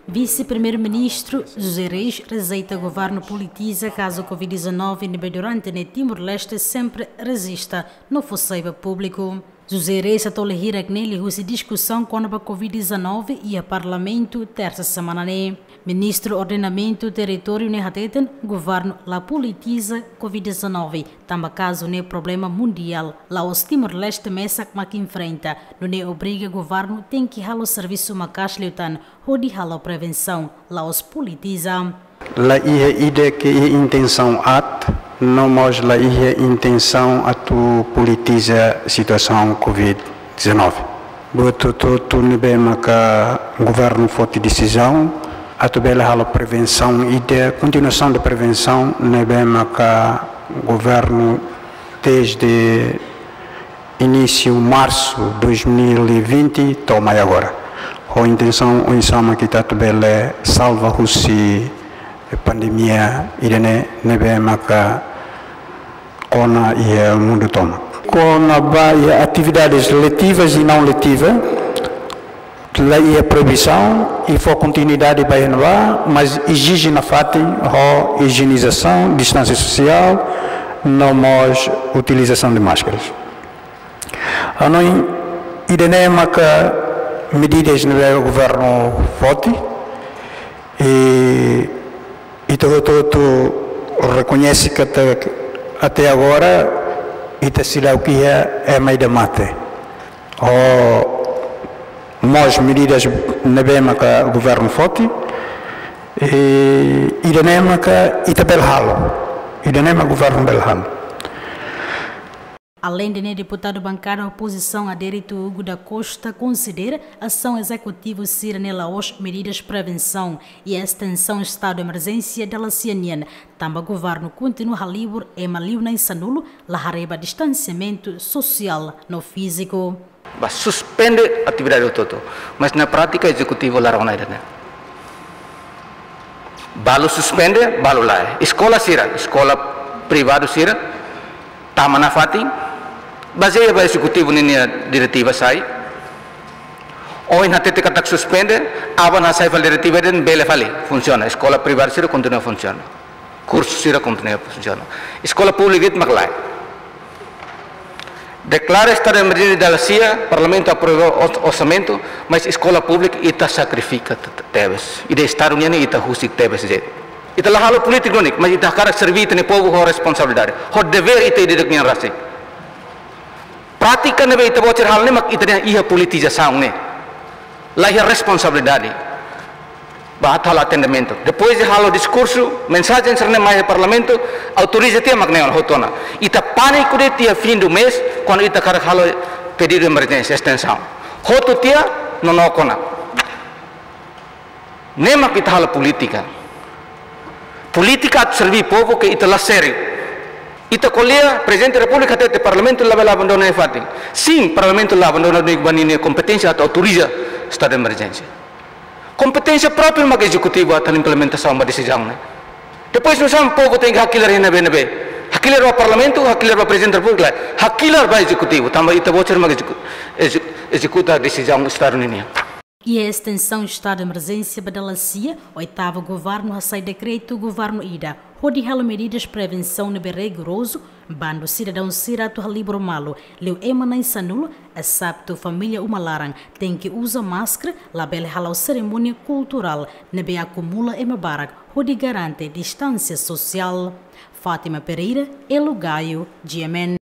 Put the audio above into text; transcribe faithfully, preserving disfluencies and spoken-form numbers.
Vise-Primeiru-Ministru José Reis rejeita governu politiza kazu covid dezanove ne'ebé durante ne'e Timor-Leste sempre rejista no fó sai ba públiku. José Reis hato'o hirak ne'e liuhusi diskusaun kona-ba covid dezanove iha Parlamentu tersa semana ne'e. Ministru Ordenamentu Territóriu ne'e hateten governu la politiza covid dezanove, tanba kazu ne'e problema mundiál, la'ós Timor-Leste mesak mak enfrenta, nune'e obriga governu tenke halo servisu maka'as liután hodi halo prevensaun, la'ós politiza. La iha ida ke iha intensaun aat, no mós la iha intensaun atu politiza situasaun covid dezanove. Buat hotu-hotu ne'ebé maka governu foti desizaun atu bele halo prevensaun ida, kontinuasaun de prevensaun ne'ebé maka governu desde inísiu marsu dois mil e vinte to'o mai agora. Ho intensaun oinsá mak ita atu bele salva husi pandemia ida-ne'e ne'ebé maka kona iha mundu tomak. Kona-ba iha atividades letivas e não letivas, la iha proibisaun i fó kontinuidade ba iha ne'ebá, mas ezije nafatin ho ijienizasaun, distánsia sosiál, no mós utilizasaun de máscaras. Hanoin, ida-ne'e maka medidas ne'ebé governu foti, i ita hotu-hotu rekoñese katak até agora ita seidauk iha ema ida mate. Ho mós medidas ne'ebé maka governu foti, i ida-ne'e maka ita bele halo, ida-ne'e maka governu bele halo. Aleinde ne'e, deputadu bankada opozisaun Adérito Hugo da Costa konsidera asaun ezekutivu sira-ne'e la'ós medidas prevensaun i estensaun estadu emerjénsia dala sia nian, tanba governu kontinua halibur ema liu na'in sanulu la haree ba distansiamentu sosiál no fíziku. Ba suspende atividade hotu-hotu. Mas na prátika ezekutivu la rona ida-ne'e. Balu suspende, balu lae. Eskola sira, eskola privadu sira, tama nafatin, bazeia ba ezekutivu ninia diretiva sai. Ohin hatete katak suspende, aban hasai fali diretiva dehan bele fali, funsiona. Eskola privadu sira kontinua funsiona. Kursu sira kontinua funsiona. Eskola públika de'it mak lae. Deklara estadu emerjénsia dala sia, parlamentu aprova ors-, orsamentu, mas eskola públika ita sakrifika te-, te-, tebes. Ida estadu nian ita husik tebes de'it. Ita la halo polítika duni, mas ita hakarak serví ita-nia povu ho responsabilidade. Ho devér ita ida-idak nian rasik. Prátika ne'ebé ita-boot sira halo ne'e mak ita-nia iha politizasaun ne'e. La iha responsabilidade ba atu halo atendimentu. Depois de halo diskursu, mensajen sira-ne'e mai iha parlamentu, autoriza tiha mak ne'e ona hotu ona. Ita pániku de'it iha fim do mês, kuandu ita hakarak halo pedidu emerjénsia, estensaun. Hotu tiha, nonook ona. Ne'e mak ita halo polítika. Polítika atu serví povu ke ita la sériu. Ita ko'alia, Prezidente Repúblika hatete parlamentu labele abandona nia fatin. Sin, parlamentu la abandona nia, ba ninia kompeténsia atu autoriza estadu de emerjénsia. Kompeténsia própria mak ezekutivu atu implementasaun ba desizaun ne'e. Depois nusá mak povu tenke hakilar iha ne'ebé-ne'ebé. Hakilar ba parlamentu, hakilar ba Prezidente Repúblika, hakilar ba ezekutivu, tanba ita-boot sira mak ezeku-, ezeku-, ezekuta desizaun estadu ninian. Iha estensaun estadu de emerjénsia ba dala sia, oitavu governu hasai dekretu governu ida hodi halo medidas prevensaun ne'ebé rigorozu, bandu sidadaun sira atu halibur malu, liu ema na'in sanulu, eseptu família uma laran, tenke uza máskara, labele hala'o serimónia kulturál ne'ebé akumula ema barak, hodi garante distánsia sosiál. Fátima Pereira, Elo Gaio, G M N.